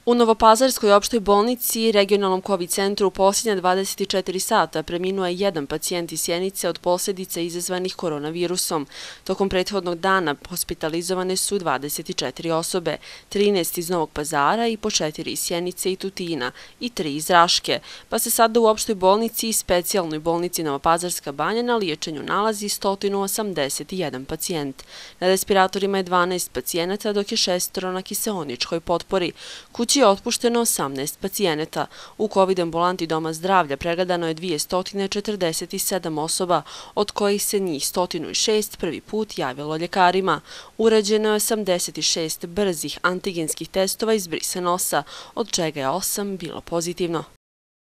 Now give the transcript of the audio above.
U Novopazarskoj opštoj bolnici i regionalnom COVID centru u posljednja 24 sata preminuo je jedan pacijent iz Sjenice od posljedica izazvanih koronavirusom. Tokom prethodnog dana hospitalizovane su 24 osobe, 13 iz Novog Pazara i po 4 iz Sjenice i Tutina i 3 iz Raške, pa se sada u opštoj bolnici i specijalnoj bolnici Novopazarska banja na liječenju nalazi 181 pacijent. Na respiratorima je 12 pacijenata, dok je 6 na kiseoničkoj potpori. Kući je otpušteno 18 pacijenata. U COVID ambulanti Doma zdravlja pregledano je 247 osoba, od kojih se njih 106 prvi put javilo ljekarima. Urađeno je 86 brzih antigenskih testova iz brise nosa, od čega je 8 bilo pozitivno.